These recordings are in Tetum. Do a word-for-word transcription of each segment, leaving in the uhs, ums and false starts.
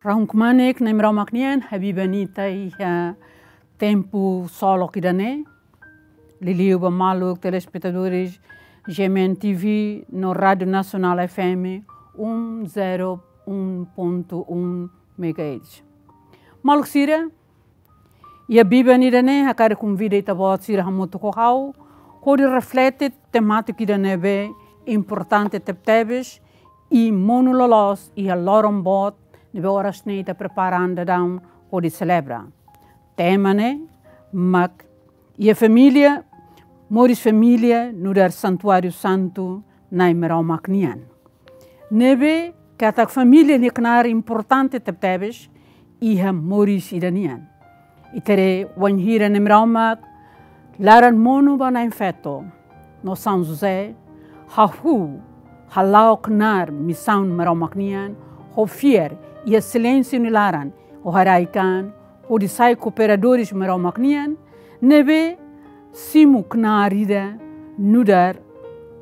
Rahun kmanek Nai Maromak nian, habiban ita iha tempu solok ida-ne'e. Liuliu ba maluk telespetadores G M N T V no Rádio Nacional F M um zero um ponto um megahertz. Maluk sira, iha biban ida-ne'e hakarak konvida ita-boot sira hamutuk ho ha'u hodi reflete temátika ida ne'ebé importante tebetebes i monu loloos iha loron boot ne'ebé oras ne'e ita prepara an daudaun hodi selebra. Tema ne'e mak iha família, moris família nu'udar santuáriu santu Nai Maromak nian. Ne'ebé katak família nia knaar importante tebetebes iha moris ida nian. Ita haree wainhira Nai Maromak laran monu ba Na'in Feto no São José, hahú, hala'o knaar misaun Maromak nian, ho fiar iha silénsiu nia laran, ho haraik an, hodi sai kooperadores Maromak nian, ne'ebé simu knaar ida nu'udar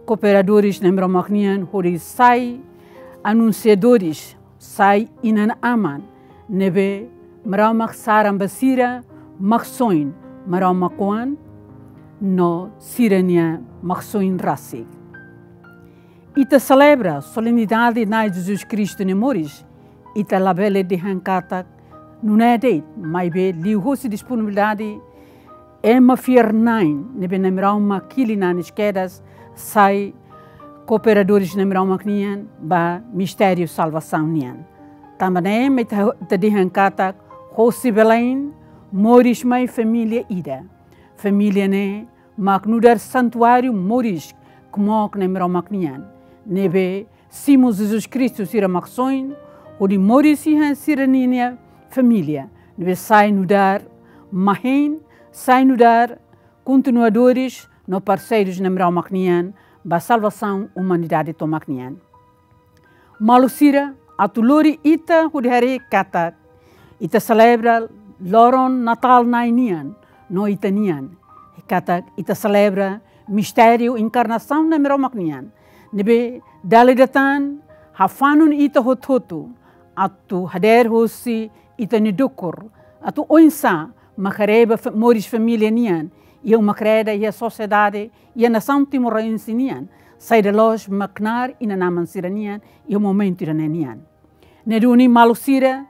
kooperadores Nai Maromak nian, hodi sai anunsiadores, sai inan-aman ne'ebé Maromak saran ba sira Maksoin Maromak oan no sira-nia Maksoin rasik. Ita selebra solenidade Nai Jesus Kristu nia moris, ita labele dehan katak nune'e de'it, maibé liuhosi disponibilidade ema fiar-na'in ne'ebé Nai Maromak hili nanis kedas sai kooperadores Nai Maromak nian ba mistériu salvasaun nian. Tanba ne'e mak ita, ita dehan katak hosi Belém moris mai família ida. Família ne'e mak nu'udar santuáriu moris kmook Nai Maromak nian, ne'ebé simu Jesus Kristu sira Maksoin hodi moris iha sira-ninia família, ne'ebé sai nu'udar mahein, sai nu'udar kontinuadores no parseirus Nai Maromak nian ba salvasaun umanidade tomak nian. Maluk sira, atu lori ita hodi haree katak ita selebra loron Natál Nai nian no ita-nian, katak ita selebra mistériu enkarnasaun Nai Maromak nian, ne'ebé dala ida tan hafanun ita hotu-hotu atu hadeer hosi ita-nia dukur, atu oinsá mak haree ba fa-, moris família nian iha uma-kreda, iha sosiedade, iha nasaun timoroense nian, saida loos mak knaar inan-aman sira-nian iha momentu ida-ne'e nian. Ne'e duni maluk sira,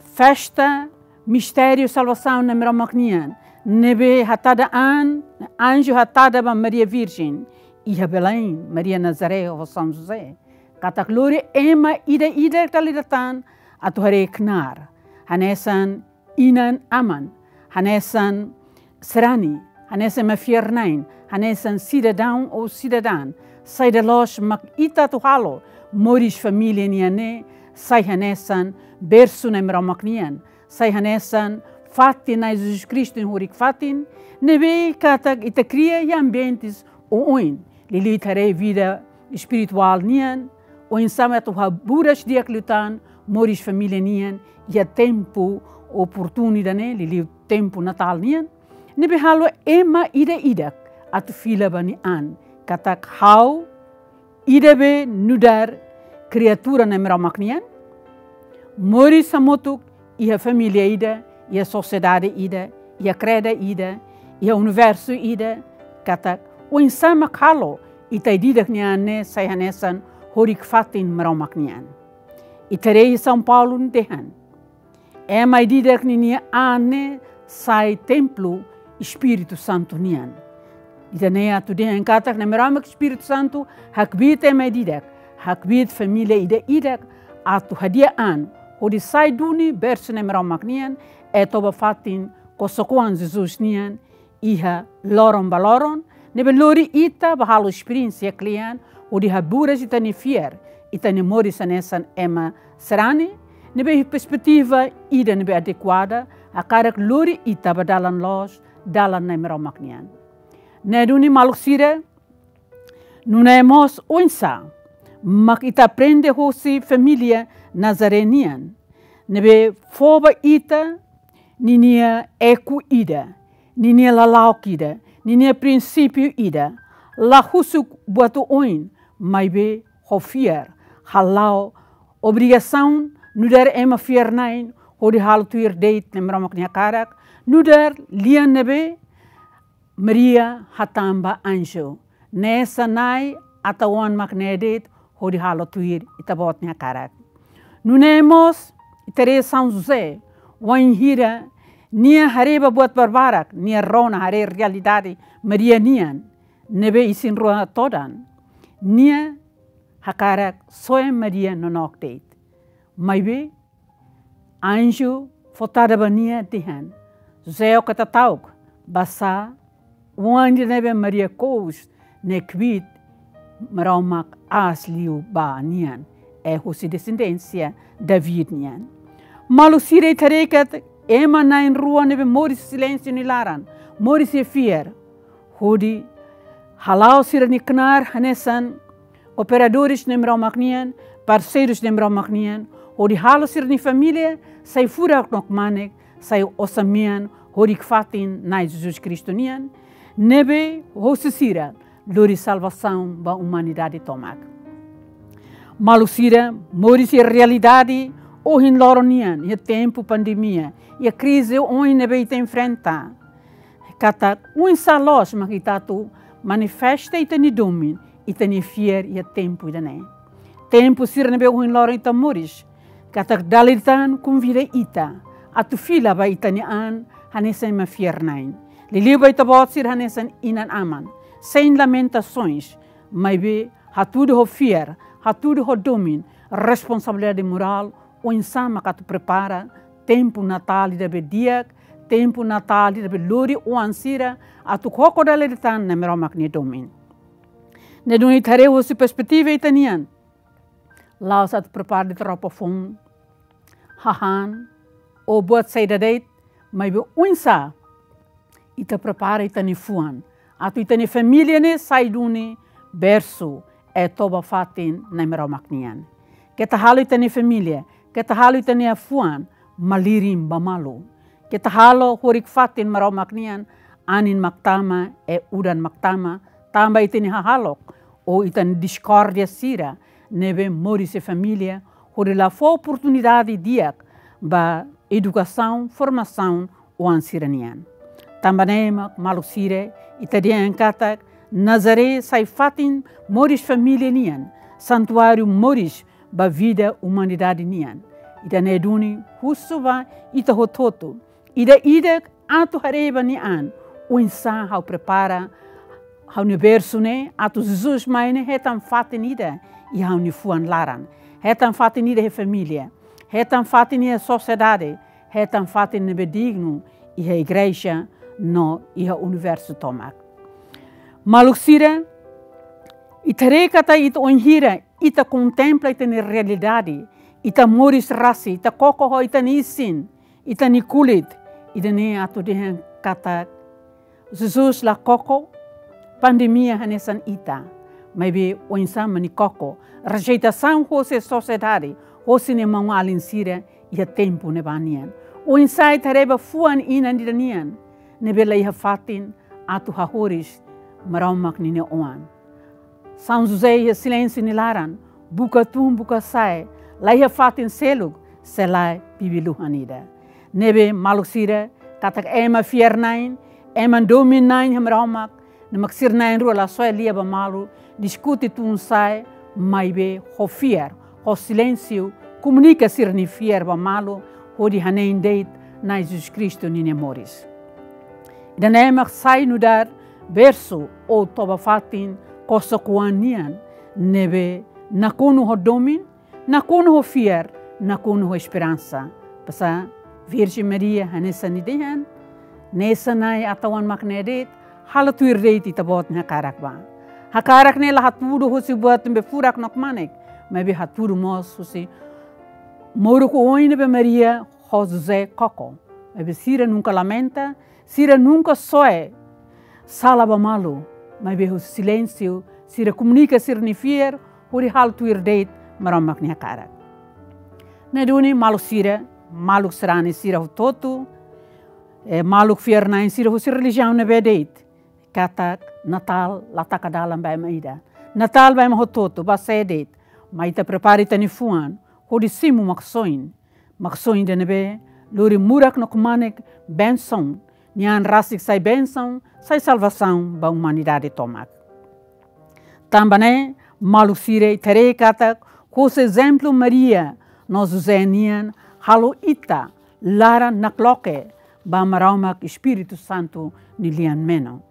festa mistériu salvasaun Nai Maromak nian, ne'ebé hatada an, anju hatada ba Maria Virjen iha Belém, Maria Nazaré ho São José, katak lori ema ida-idak dala ida tan atu haree knaar hanesan inan-aman, hanesan sarani, hanesan ema fiar-na'in, hanesan sidadaun ou sidadán, saida loos mak ita atu halo moris família nian ne'e sai hanesan bersu Nai Maromak nian, sai hanesan fatin Nai Jesus Kristu nia hurik-fatin, ne'ebé katak ita kria iha ambientes oioin, liuliu ita haree vida espirituál nian, oinsá mak atu haburas di'ak liután moris família nian iha tempu oportunidade ne'e, liuliu tempu Natál nian, ne'ebé halo ema ida-idak atu fila ba nia an katak ha'u ida be nu'udar kriatura Nai Maromak nian, moris hamutuk iha família ida, iha sosiedade ida, iha kreda ida, iha universu ida, katak oinsá mak halo ita ida-idak nia an ne'e sai hanesan hurik-fatin Maromak nian. Ita haree São Paulo nia dehan, ema ida-idak ninia an ne'e sai templu Espíritu Santu nian. Ida-ne'e atu dehan katak Nai Maromak Espíritu Santu hakbiit ema ida-idak, hakbiit família ida-idak atu hadi'a an hodi sai duni bersu Nai Maromak nian, atu toba fatin kosok-oan Jesus nian iha loron ba loron, ne'ebé lori ita ba halo esperiénsia kle'an hodi haburas ita-nia fiar, ita-nia moris hanesan ema sarani, ne'ebé perspetiva ida ne'ebé adekuada, hakarak lori ita ba dalan loos, dalan Nai Maromak nian. Ne'e duni maluk sira, nune'e mós oinsá mak ita aprende hosi família Nazaré nian, ne'ebé fó ba ita ninia eku ida, ninia lala'ok ida, ninia prinsípiu ida, la husu buat oioin, maibé ho fiar, hala'o obrigasaun Nu'udar ema fiar-na'in hodi halo tuir de'it Nai Maromak nia hakarak, nu'udar lian ne'ebé Maria hatán ba anju: Hanesan Nai atu oan mak ne'e de'it hodi halo tuir Ita-Boot nia hakarak. Nune'e mós ita haree São José, wainhira nia haree ba buat barbarak, nia rona haree realidade Maria nian ne'ebé isin-rua todan, nia hakarak soe Maria nonook de'it. Maibé anju fó tada ba nia dehan: José, ó keta ta'uk, basá oan ida ne'ebé Maria kous ne'e kbiit, Maromak aas liu ba nian, é husi desendénsia David nian. Maluk sira, ita haree katak ema na'in-rua ne'ebé moris silénsiu nia laran, moris iha fiar, hodi hala'o sira-nia knaar hanesan kooperadores Nai Maromak nian, parseirus Nai Maromak nian, hodi halo sira-nia família sai furak no kmanek, sai osan-mean horik-fatin Nai Jesus Kristu nian, ne'ebé hosi sira lori salvasaun ba umanidade tomak. Maluk sira, moris iha realidade ohin loron nian, iha tempu pandemia, iha krize oin ne'ebé ita enfrenta, katak oinsá loos mak ita atu manifesta ita-nia domin, ita-nia fiar iha tempu ida-ne'e. Tempu sira ne'ebé ohin loron ita moris, katak dala ida tan konvida ita atu fila ba ita-nia an hanesan ema fiar-na'in. Liuliu ba ita-boot sira hanesan inan-aman, sein lamentasoens, maibé hatudu ho fiar, hatudu ho domin, responsabilidade morál, oinsá mak atu prepara tempu Natál ida be di'ak, tempu Natál ida be lori oan sira atu koko dala ida tan Nai Maromak nia domin. Ne'e duni ita haree husi perspetiva ita-nian, la'ós atu prepara de'it roupa foun, hahán, ou buat saida de'it, maibé oinsá ita prepara ita-nia fuan atu ita-nia família ne'e sai duni bersu, é toba-fatin Nai Maromak nian. Keta halo ita-nia família, keta halo ita-nia fuan malirin ba malu. Keta halo horik-fatin Maromak nian anin mak tama, é udan mak tama, tanba ita-nia hahalok ou ita-nia diskórdia sira ne'ebé moris iha família, hodi la fó oportunidade di'ak ba edukasaun, formasaun oan sira-nian. Tanba ne'e mak maluk sira, ita dehan katak Nazaré sai fatin moris família nian, santuáriu moris ba vida umanidade nian. Ida-ne'e duni husu ba ita hotu-hotu, ida-idak atu haree ba nia an: Oinsá ha'u prepara ha'u-nia bersu ne'e atu Jesus mai ne'e hetan fatin ida iha ha'u-nia fuan laran, hetan fatin ida iha família, hetan fatin iha sosiedade, hetan fatin ne'ebé dignu iha igreja no iha universu tomak. Maluk sira, ita haree katak ita, wainhira ita kontempla ita-nia realidade, ita moris rasik, ita koko ho ita-nia isin, ita-nia kulit, ida-ne'e atu dehan katak Jesus la koko pandemia hanesan ita, maibé oinsá mak nia koko rejeitasaun hosi sosiedade, hosi nia maun-alin sira iha tempu ne'ebá nian. Oinsá ita haree ba fuan inan ida nian ne'ebé la iha fatin atu hahoris Maromak ninia oan. São José iha silénsiu nia laran, buka tun, buka sa'e, la iha fatin seluk se lae bibi-luhan ida. Ne'ebé maluk sira, katak ema fiar-na'in, ema domin-na'in iha Maromak, ne'e mak sira na'in-rua la soe lia ba malu, diskute tun sa'e, maibé ho fiar, ho silénsiu, komunika sira-nia fiar ba malu, hodi hanein de'it Nai Jesus Kristu ninia moris. Ida-ne'e mak sai nu'udar bersu ou toba-fatin kosok-oan nian, ne'ebé nakonu ho domin, nakonu ho fiar, nakonu ho esperansa. Basá Virjen Maria hanesan nia dehan: Hanesan Nai atu oan mak ne'e de'it, halo tuir de'it Ita-Boot nia hakarak bá. Hakarak ne'e la hatudu husi buat ne'ebé furak no kmanek, maibé hatudu mós husi moruk oin ne'ebé Maria ho José koko. Maibé sira nunka lamenta, sira nunka soe sala ba malu, maibé husi silénsiu sira komunika sira-nia fiar, hodi halo tuir de'it Maromak nia hakarak. Ne'e duni maluk sira, maluk sarani sira hotu-hotu, eh, maluk fiar-na'in sira husi relijiaun ne'ebé de'it, katak Natál la taka dalan ba ema ida. Natál ba ema hotu-hotu, ba sé de'it. Mai ita prepara ita-nia fuan hodi simu Maksoin. Maksoin ida ne'ebé lori murak no kmanek bensaun, nia an rasik sai bensaun, sai salvasaun ba umanidade tomak. Tanba ne'e, maluk sira, ita haree katak husi ezemplu Maria no José nian, halo ita laran nakloke ba Maromak Espíritu Santu nia lian menon.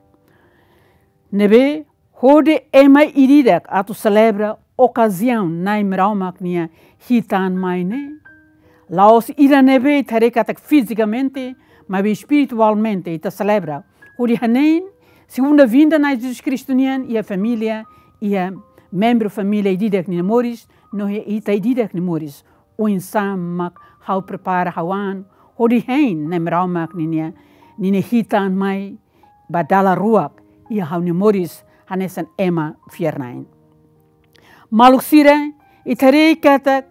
Ne'ebé hodi ema ida-idak atu selebra okaziaun Na'i Maromak nia hitan mai ne'e. La'ós ida ne'ebé ita haree katak fizikamente, maibé espiritualmente ita selebra. Hodi hanein, segunda vinda Na'i Jesus Kristu nian, iha família, iha membru família ida-idak nia moris, no iha ita ida-idak nia moris. Oinsá mak ha'u prepara ha'u an, hodi hein Na'i Maromak ninia, ninia hitan mai ba dala ruak iha ha'u-nia moris hanesan ema fiar-na'in. Maluk sira, ita haree katak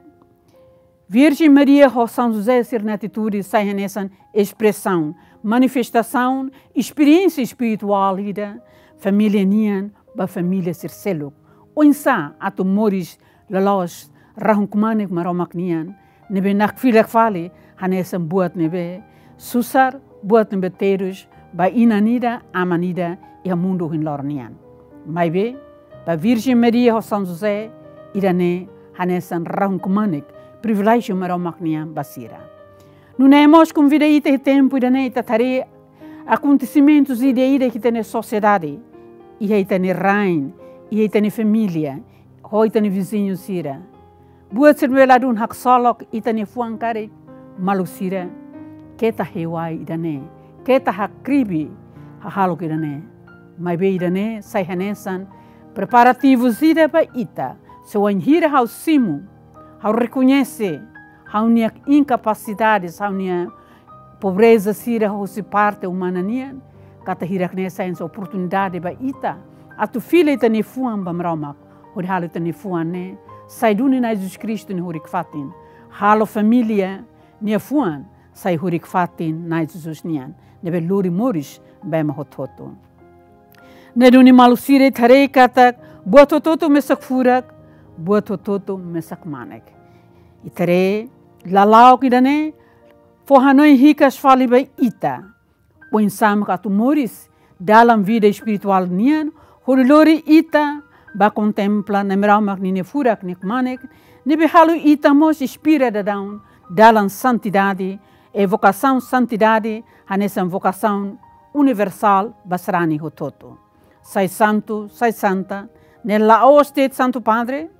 Virjen Maria ho São José sira-nia atitude sai hanesan espresaun, manifestasaun, esperiénsia espirituál ida família nian ba família sira seluk. Oinsá atu moris loloos rahun-kmanek Maromak nian, ne'ebé nakfilak fali hanesan buat ne'ebé susar, buat ne'ebé terus ba inan ida, aman ida iha mundu ohin loron nian. Maibé, ba Virjen Maria ho São José, ida-ne'e hanesan rahun-kmanek priviléjiu Maromak nian ba sira. Nune'e mós konvida ita iha tempu ida-ne'e ita haree akontesimentus ida-idak iha ita-nia sosiedade, iha ita-nia rain, iha ita-nia família, ho ita-nia viziñu sira. Buat sira ne'ebé ladún haksolok ita-nia fuan karik, maluk sira, keta hewai ida-ne'e, keta hakribi hahalok ida-ne'e. Maibé ida-ne'e sai hanesan preparativu ida ba ita, se wainhira ha'u simu, ha'u rekoñese ha'u-nia inkapasidade, ha'u-nia pobreza sira husi parte umana nian, katak hirak-ne'e sai hanesan oportunidade ba ita atu fila ita-nia fuan ba Maromak, hodi halo ita-nia fuan ne'e sai duni Na'i Jesus Kristu nia hurik-fatin, halo família nia fuan sai hurik-fatin Na'i Jesus nian, ne'ebé lori moris ba ema hotu-hotu. Ne'e duni maluk sira, ita haree katak buat hotu-hotu mesak furak, buat hotu-hotu mesak kmanek. Ita haree, lala'ok ida-ne'e fó hanoin hikas fali ba ita oinsá mak atu moris dalam vida espirituál nian, hodi lori ita ba kontempla Na'i Maromak ninia furak nia kmanek, ne'ebé halo ita mós inspira daudaun dalam santidade, i vokasaun santidade hanesan vokasaun universál ba sarani hotu-hotu. Sai santu, sai santa, ne'e la'ós de'it Santu Padre,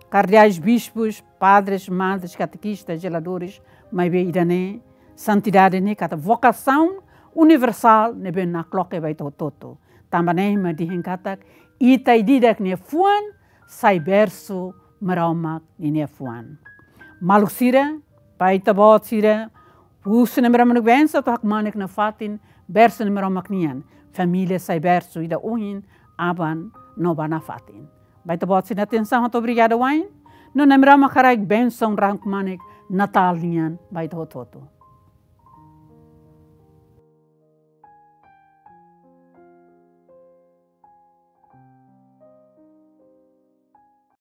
kardeais, bispus, padres, madres, katekistas, zeladores, maibé ida-ne'e, santidade ne'e katak vokasaun universál ne'ebé nakloke ba ita hotu-hotu. Tanba ne'e mak dehan katak ita ida-idak nia fuan sai bersu Maromak ninia fuan. Maluk sira, ba ita-boot sira, husu Na'i Maromak nia bensaun atu hakmanek nafatin, bersu Na'i Maromak nian, família sai bersu ida ohin, aban no ba nafatin. Ba ita-boot sira-nia atensaun, hato'o obrigada wa'in. No Na'i Maromak haraik bensaun rahun-kmanek Natál nian ba ita hotu-hotu.